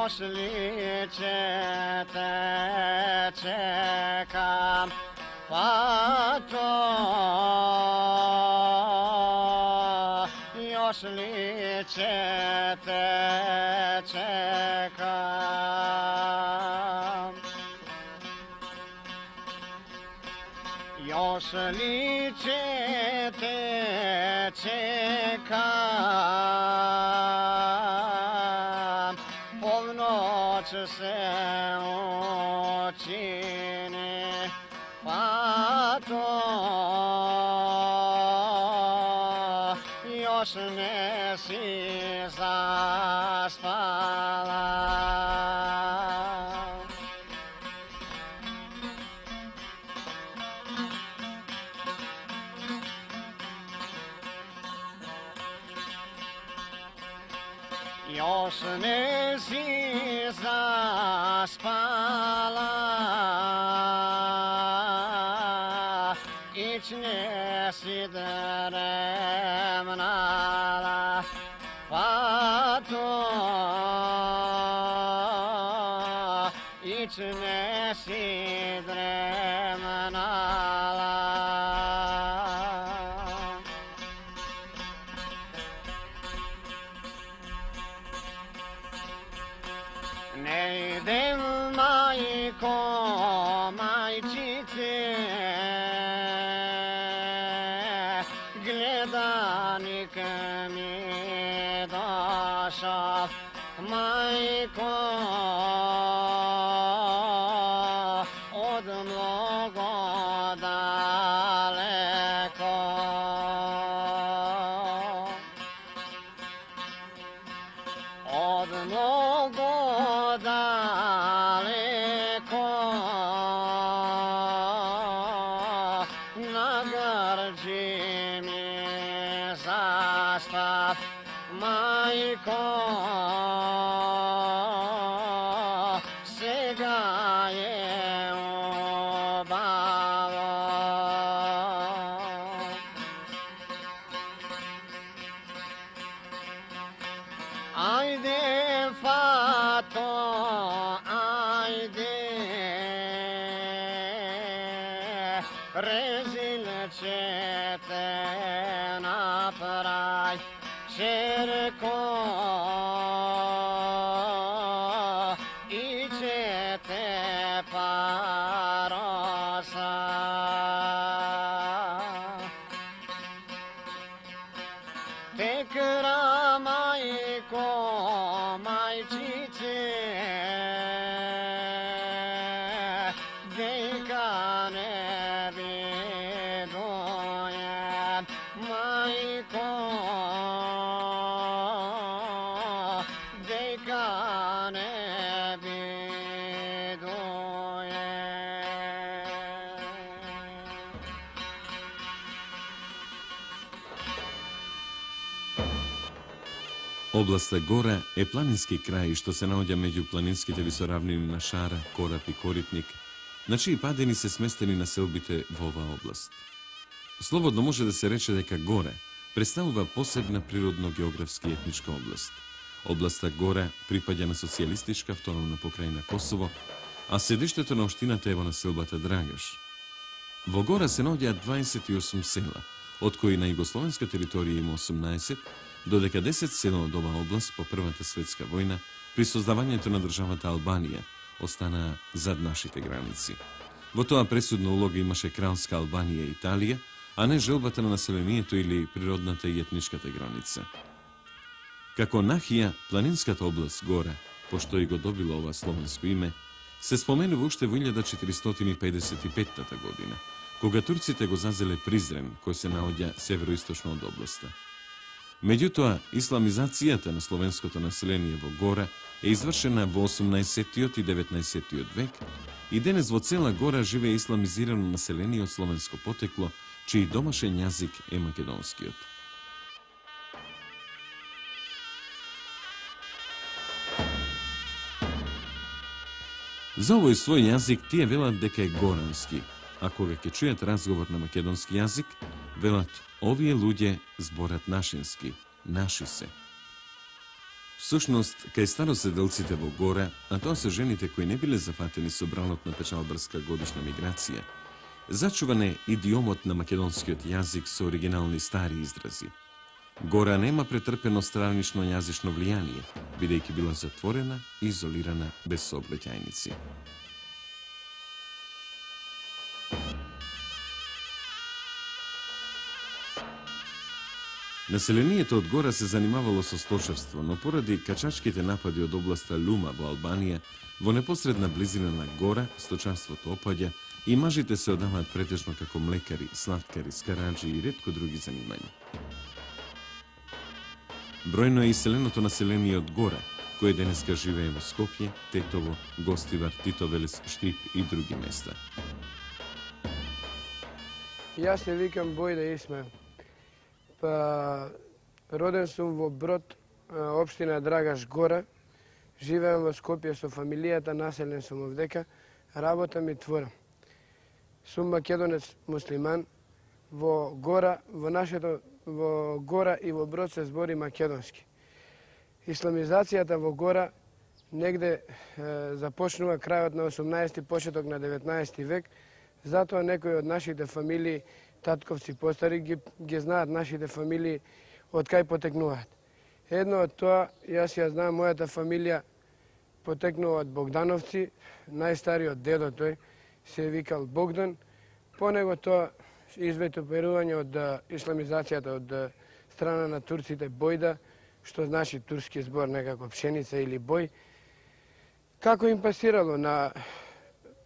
još li ćete čekam, pa to još li ćete čekam, još li ćete čekam, polnoć se učini, pa to još ne si zaspala. Još ne si zaspala, ić ne si dremnala, pa to ić ne si dremnala. Ne idem, majko, majčice, gledanik mi došao, majko, od mnogo daleko. Od mnogo daleko, na grđi mi zastav, majko, sega je obalo. Ajde, fato, ajde, rezil će te napravit, čerko, i će te parosa. Tekra, majko, majčice, dejka ne vidujem, majko, dejka ne vidujem. Областа Гора е планински крај што се наоѓа меѓу планинските висоравнини на Шара, Корап и Коритник, на чии падини се сместени населбите во оваа област. Слободно може да се рече дека Гора представува посебна природно-географски и етничка област. Областа Гора припаѓа на социјалистичка автономна покрајна Косово, а седиштето на општината е во населбата Драгаш. Во Гора се наоѓаат 28 села, од кои на југословенска територија има 18, додека 10 села од оваа област по Првата светска војна при создавањето на државата Албанија останаа зад нашите граници. Во тоа пресудна улога имаше кралска Албанија и Италија, а не желбата на населението или природната и етничката граница. Како нахија, планинската област Гора, пошто и го добила ова словенско име, се споменува уште во 1455 година, кога турците го зазеле Призрен, кој се наоѓа североисточно од областа. Меѓутоа, исламизацијата на словенското население во Гора е извршена во 18 и 19 век и денес во цела Гора живее исламизирано население од словенско потекло, чиј домашен јазик е македонскиот. За овој свој јазик тие велат дека е горански, а кога ќе чујат разговор на македонски јазик, велат овие луѓе зборат нашински, наши се. Всушност, кај староседелците во Гора, а тоа се жените кои не биле зафатени со бралот на печалбарска годишна миграција, зачуван е идиомот на македонскиот јазик со оригинални стари изрази. Гора нема претрпено странично јазично влијание, бидејќи била затворена и изолирана без сообраќајници. Населението од Гора се занимавало со сточарство, но поради качачките напади од областа Лума во Албанија, во непосредна близина на Гора, сточарството опаѓа и мажите се одаваат претежно како млекари, слаткари, скараџи и ретко други занимања. Бројно е иселеното население од Гора, кое денеска живее во Скопје, Тетово, Гостивар, Титовелес, Штип и други места. Јас се викам Бојда Исмаил. Роден сум во Брод, општина Драгаш Гора. Живеам во Скопје со фамилијата, населен сум овдека, работам и творам. Сум македонец муслиман. Во Гора и во Брод се збори македонски. Исламизацијата во Гора негде започнува крајот на 18 почеток на 19 век, затоа некои од нашите фамилии, татковци постари, ги знаат нашите фамилии од кај потекнуваат. Едно од тоа, јас ја знам, мојата фамилија потекнува од Богдановци, најстариот дедо тој се викал Богдан, по него тоа изветоперување од исламизацијата од страна на турците Бојда, што значи турски збор некако пшеница или бој, како им пасирало на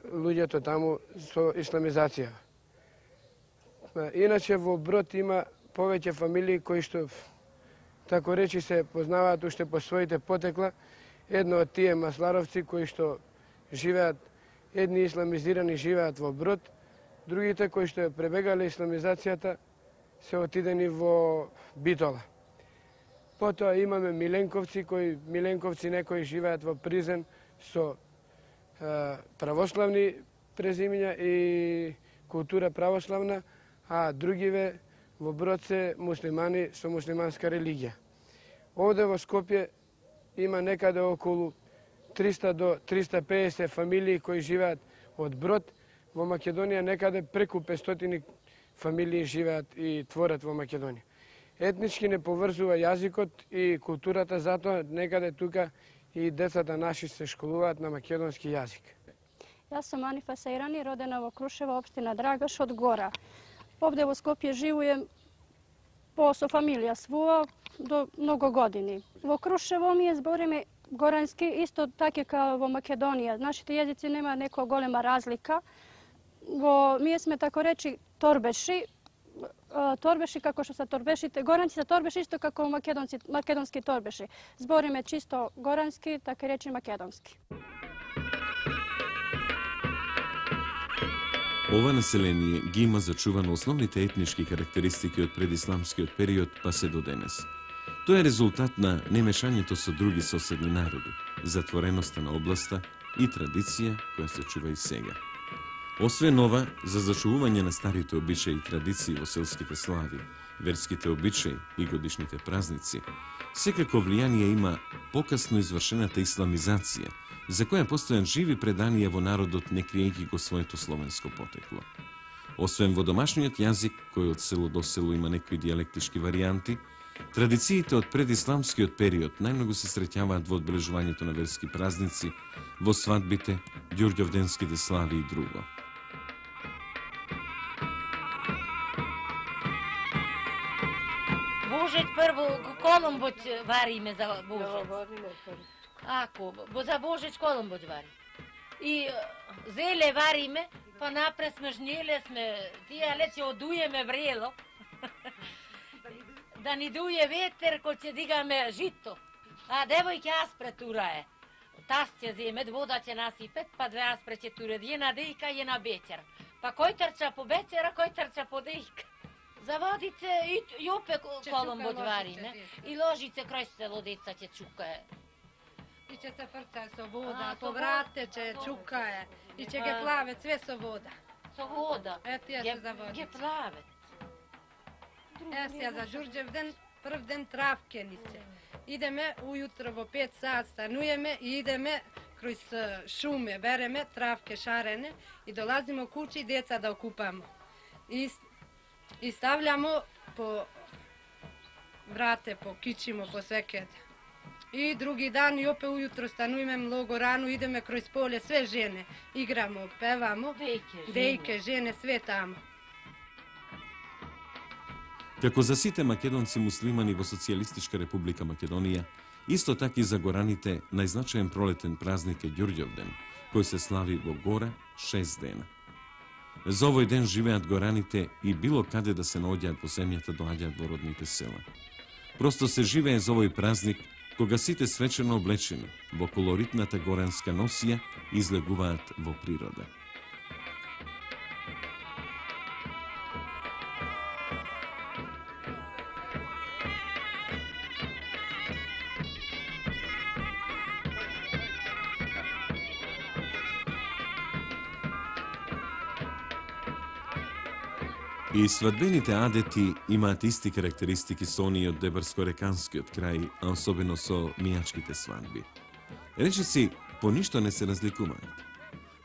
луѓето таму со исламизација. Иначе во Брод има повеќе фамилии кои што, тако речи, се познаваат уште по своите потекла. Едно од тие масларовци кои што живеат, едни исламизирани живеат во Брод, другите кои што пребегале исламизацијата се отидени во Битола. Потоа имаме Миленковци некои живеат во Призен со православни презимиња и култура православна, а другиве во Брод се муслимани со муслиманска религија. Овде во Скопје има некаде околу 300 до 350 фамилии кои живеат од Брод. Во Македонија некаде преку 500 фамилии живеат и творат во Македонија. Етнички не поврзува јазикот и културата, затоа некаде тука и децата наши се школуваат на македонски јазик. Јас сум Анифа Сајрани, родена во Крушево, општина Драгаш од Гора. Овде во Скопје живеем со фамилија своја до многу години. Во Крушево ние збориме горански, исто така како во Македонија. Нашите јазици нема некоја голема разлика. Ние сме, тако речи, торбеши. Торбеши како што се торбешите. Горанци се торбеши исто како македонски торбеши. Збориме чисто горански, така речи македонски. Ова население ги има зачувано основните етнички карактеристики од предисламскиот период па се до денес. Тоа е резултат на немешањето со други соседни народи, затвореноста на областа и традиција која се чува и сега. Освен ова, за зачувување на старите обичаи и традиции во селските слави, верските обичаи и годишните празници, секако влијание има покасно извршената исламизација, за која постојан живи преданија во народот, не криејќи го своето словенско потекло. Освен во домашниот јазик, кој од село до село има некои диалектички варијанти, традициите од предисламскиот период најмногу се среќаваат во одбележувањето на верски празници, во свадбите, ѓурѓовденските слави и друго. Божет прво коломбоќ вариме за Божет. Ако, за Божет коломбоќ вари. И зеле вариме, па напред сме жнеле, сме тие лече одуеме врело. Да ни дуе ветер кој ќе дигаме жито. А девојке аспре тура е. Тас ќе земе, вода ќе насипет, па две аспре ќе туре. Една дејка и една бечер. Па кој трча по бечера, кој трча по дејка. За водице и опе коломбоќ вариме. И ложице крај село деца ќе чукае. И ќе се фрца со вода, по врате ќе чукае. И ќе ги плаве све со вода. Со вода. Ето ја се за водице. Ги плаве. Ја за Ѓурѓев ден, прв ден травке ни се. Ideme ujutro во 5 sat станujеме и идеме кроз шуме, береме травке шарene и долазимо куќи деца да окупамо. И стављамо по врате, по кичимо, по свекете. И други дан и опе ујутро стануваме многу рано, идеме кроз поле, све жене, играмо, певамо, дејке, жене, све тамо. Како за сите македонци муслимани во Социјалистичка република Македонија, исто така и за гораните најзначаен пролетен празник е Ѓурѓовден, кој се слави во Гора 6 дена. За овој ден живеат гораните и било каде да се наоѓаат по земјата доаѓаат во родните села. Просто се живее за овој празник кога сите свечено облечени во колоритната горанска носија излегуваат во природа. И свадбените адети имаат исти карактеристики со оние од Дебарско-реканскиот крај, а особено со мијачките свадби. Речиси, по ништо не се разликуваат.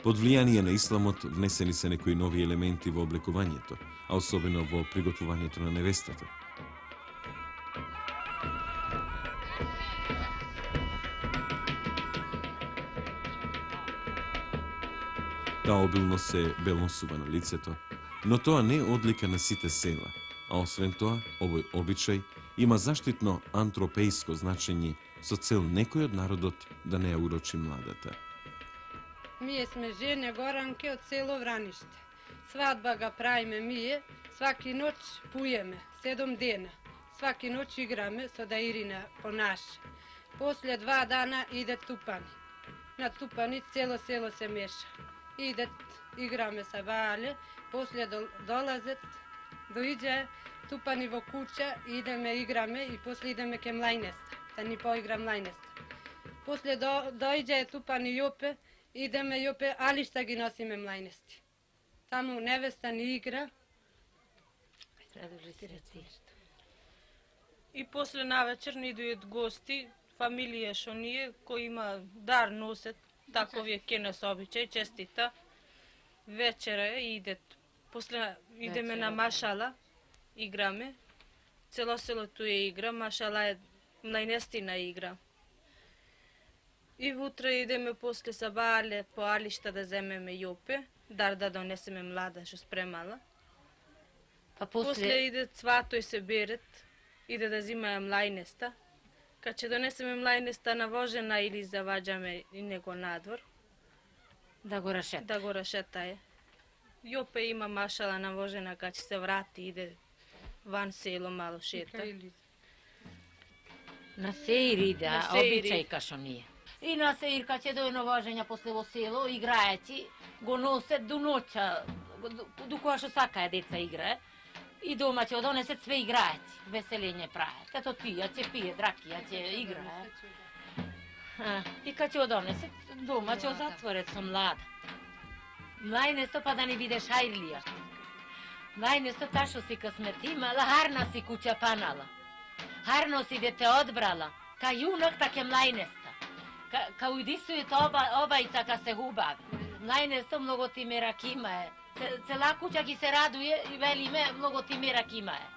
Под влијание на исламот внесени се некои нови елементи во облекувањето, а особено во приготвувањето на невестата. Таа обилно се белносува на лицето, но тоа не е одлика на сите села, а освен тоа, овој обичај има заштитно антропејско значење со цел некој од народот да не ја урочи младата. Ние сме жене горанке од село Враниште. Свадба ga правиме ние, сваки ноќ пуеме, 7 дена. Сваки ноќ играме со даирина по наше. После 2 дана иде тупани. На тупани цело село се меша. Идет, играме са вале, после долазет, доиđe тупани во куќа, идеме играме и после идеме ке млајнеста, да ни поигра млајнеста. После доиđe тупани јопе, идеме јопе, али шта ги носиме млајнести. Таму невеста ни игра. И после навечер ни дојдат гости, фамилија шо ние, кои има дар носет, такови е ке нас обичај, честита. Вечера идет, после идеме на машала, играме. Цело селото е игра, машала е најнестина игра. И вутре идеме после сабале по алишта да земеме јопе, дар да донесеме млада што спремала. Па После иде цватој се берет, иде да зимаја млајнеста. Кад ќе донесеме млајнеста навожена или заваѓаме и него надвор, да го рашета. да го рашетае. Јопе има машала навожена, кад ќе се врати, иде ван село мало шета. На сеир иде, На а сеир обичај иде. кашо ние. И на сеир кад ќе дојде навожења после во село, играјајќи, го носет до ноќа, до која што сакаја деца играе. И дома ќе одонесет све играјајќи, веселење прајат. Ето пија, ќе пие, дракија, ќе играе. И кад ќе одонесет, дома ќе затворет со млада. Млајнесто па да не биде шајрлија. Млајнесто та што си късмет имала, харна си куќа панала. Харно си дете одбрала, ка јунак таке млајнеста. Ка ујдисујте обајца ка се хубави. Млајнесто многу ти мерак има е. Цела куќа ги се радуе и велиме многу ти мерак има е.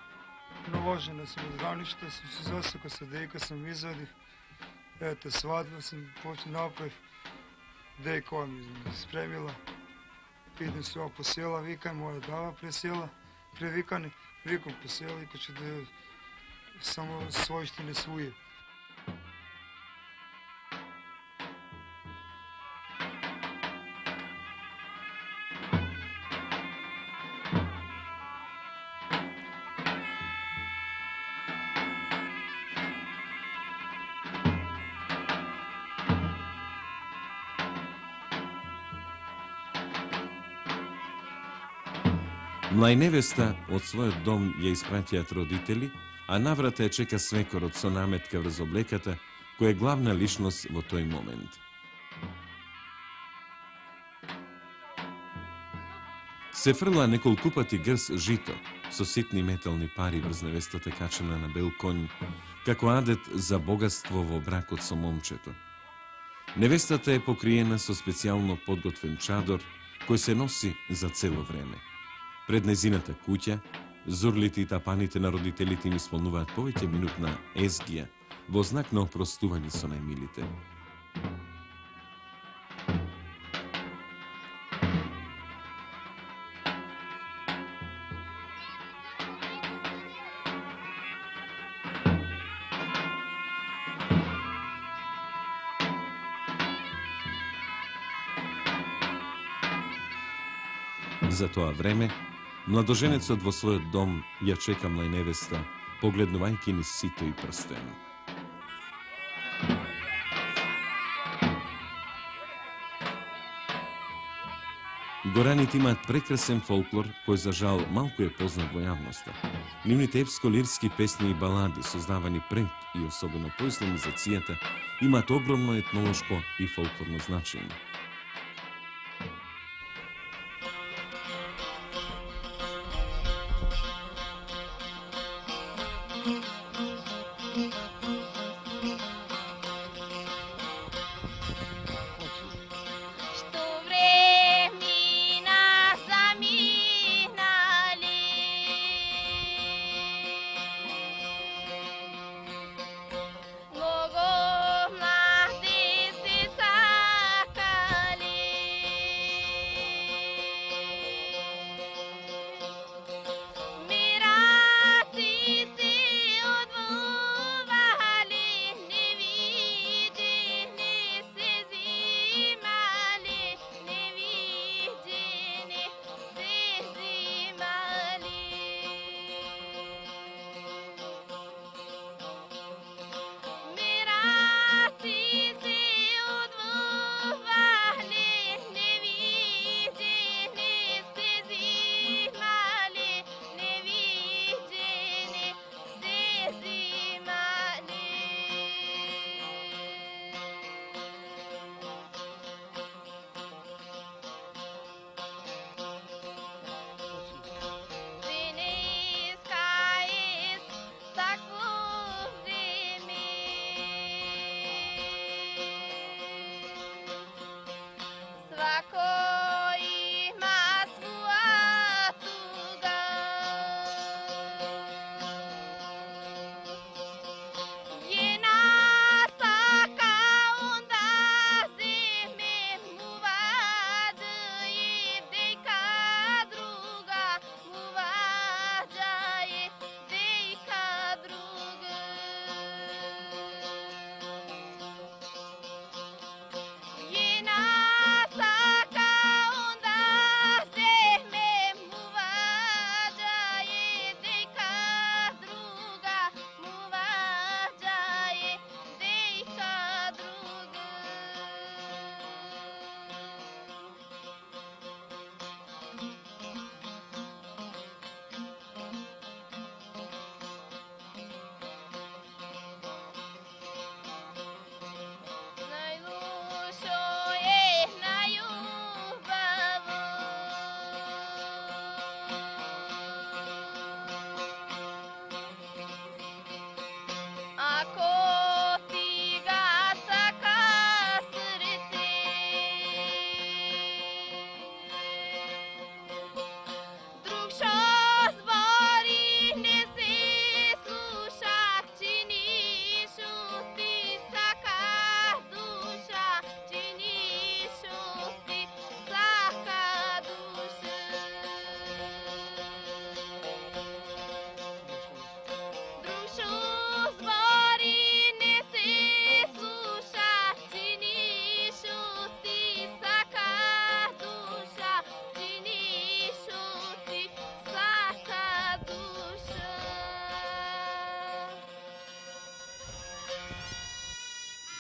Наложена сум од Враниште, сум се засека со дејка, сум извадив. Ете, свадба сум направив. Дејка ми спремила. Идем сува по села, викај, моја дава пресела, превикани, викам по села и каче да само својште не суе. Млајневеста од својот дом ја испраќаат родители, а наврата ја чека свекорот со наметка врз облеката, која е главна личност во тој момент. Се фрла неколку пати грс жито, со ситни метални пари врз невестата качена на бел конј, како адет за богатство во бракот со момчето. Невестата е покриена со специјално подготвен чадор, кој се носи за цело време. Пред незината куќа, зурлите и тапаните на родителите им исполнуваат повеќе минутна езгија во знак на опростување со најмилите. За тоа време, младоженецот во својот дом ја чека млајневеста, погледнувајќи низ сито и прстен. Гораните имаат прекрасен фолклор, кој за жал малку е познат во јавноста. Нивните епско-лирски песни и балади, создавани пред и особено по исламизацијата, имаат огромно етнолошко и фолклорно значење.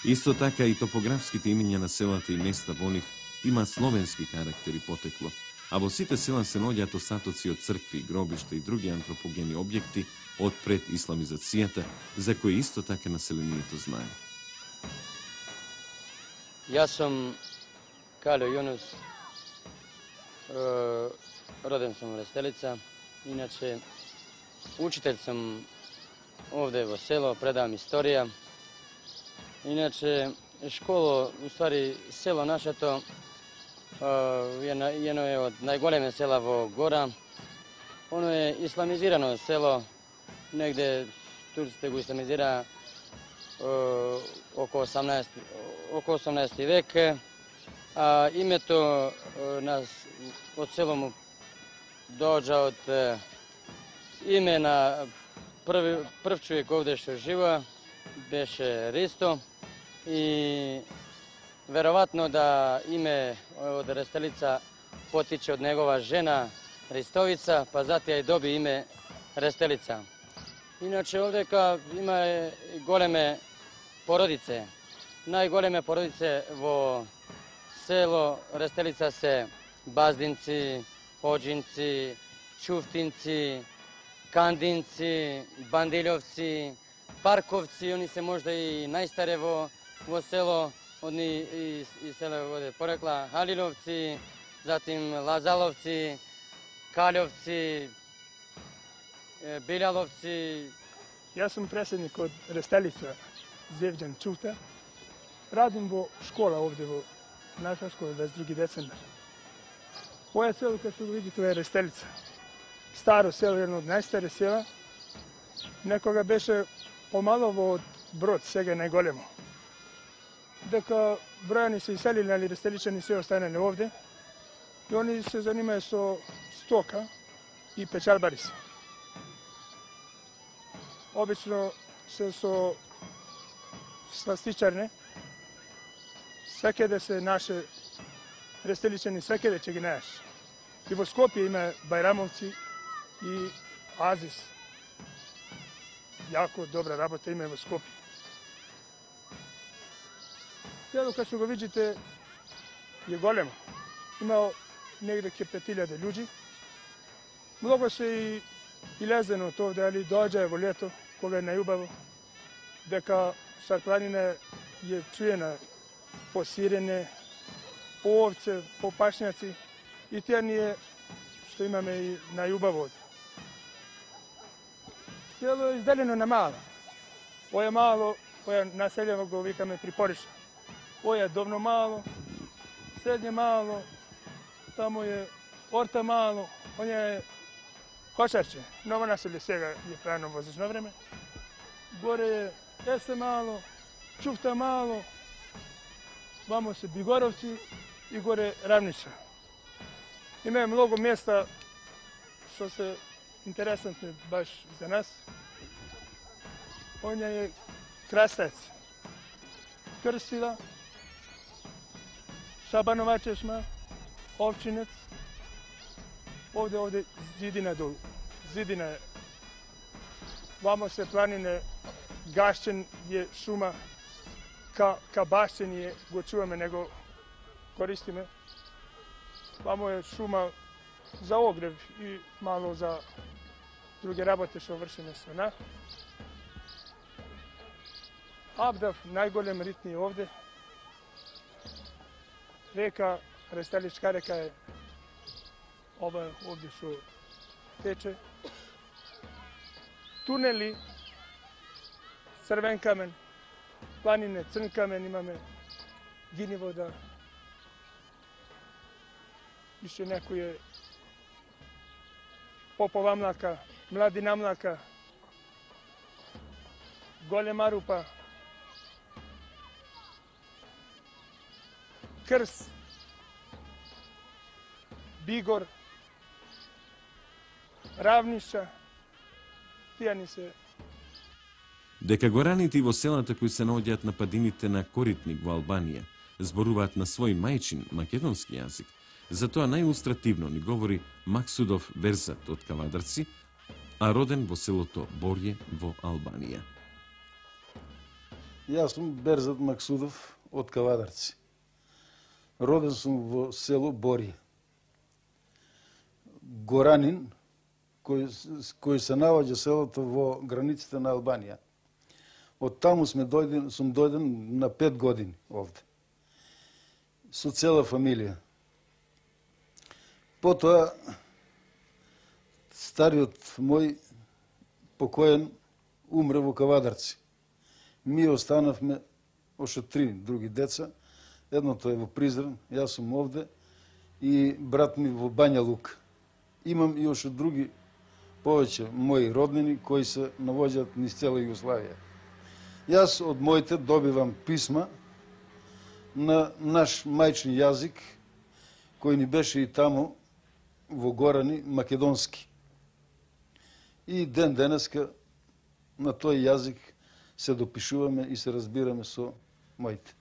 Исто така и топографските имиња на селата и места во нив имаат словенски карактер и потекло, а во сите села се наоѓаат остатоци од цркви, гробишта и други антропогени објекти од пред исламизацијата, за кои исто така населението знае. Јас сум Калио Јунус, роден сум во Рестелица, иначе учител сум овде во село, предавам историја. Иначе, школа, уствари, село нашето, едно е од најголеме села во Гора. Оно е исламизирано село, негде турците го исламизира околу 18 век. А името од село му доаѓа од име на прв човек овде што жива, беше Ристо. И веројатно да име од Рестелица потиче од негова жена Ристовица, па затоа и доби име Рестелица. Иначе овдека има големе породице. Најголеме породице во село Рестелица се Баздинци, Оџинци, Чуфтинци, Кандинци, Бандиловци, Парковци, они се можда и најстаре во село, одни и село оде порекла Халиловци, затим Лазаловци, Калјовци, Билјаловци. Јас сум преседник од Рестелица, Зевџан Чуфта. Радим во школа овде во наша школа 22 децембар. Моја село, како го видите, е Рестелица. Старо село, едно од најстари села. Некога беше помало од Брод, сега е најголемо. Дека бројани се иселили, али рестеличани се останали овде. И они се занимаја со стока и печалбари се. Обично се со сластичарне. Секаде се наше рестеличани, секаде ќе ги најаш. И во Скопје има Бајрамовци и Азис. Јако добра работа има во Скопје. Село, како што го видите, е големо. Има негде ке 5000 луѓи. Многу се и лезено од овде, али доаѓа во лето, кога е најубаво, дека Старпланина е чуена по сирене, по овце, по пашњаци, и тие ние што имаме и најубаво овде. Село е изделено на мало. Оја мало, оја населјево го викаме Припориша. Оја довно мало, средње мало, тамо е Орта мало, оња е Кошарче. Ново населје сега е правено во зачно време. Горе е Есе мало, Чуфта мало, вамо се Бигоровци и горе Равница. Има многу места што се интересантни баш за нас. Оња е Крастец, Крстила, Шабанова чешма, Овчинец, овде Зидина долу. Зидина е. Вамо се планине, Гашчен е шума, ка Башчен е, го чуваме, него користиме. Вамо е шума за огрев и мало за други работи што вршиме со на. Абдав, најголем ритни е овде. Река, Рестеличка река е ова овде што тече. Тунели, црвен камен, планине, црн камен, имаме гини вода. Иште некој е Попова млака, Младина млака, Голема рупа, Крс, Бигор, Равниша, тие ни се. Дека гораните во селата кои се наоѓаат на падините на Коритник во Албанија зборуваат на свој мајчин македонски јазик, затоа најилустративно ни говори Максудов Берзат од Кавадарци, а роден во селото Борје во Албанија. Јас сум Берзат Максудов од Кавадарци. Роден сум во село Борје. Горанин, кој се наоѓа селото во границите на Албанија. Од таму сум дојден на 5 години овде. Со цела фамилија. Потоа, стариот мој покоен умре во Кавадарци. Ми останавме още 3 други деца. Едното е во Призрен, јас сум овде и брат ми во Бања Лука. Имам и още други повеќе мои роднини кои се навоѓаат низ цела Југославија. Јас од моите добивам писма на наш мајчни јазик, кој ни беше и таму во Горани македонски. И ден денеска на тој јазик се допишуваме и се разбираме со моите.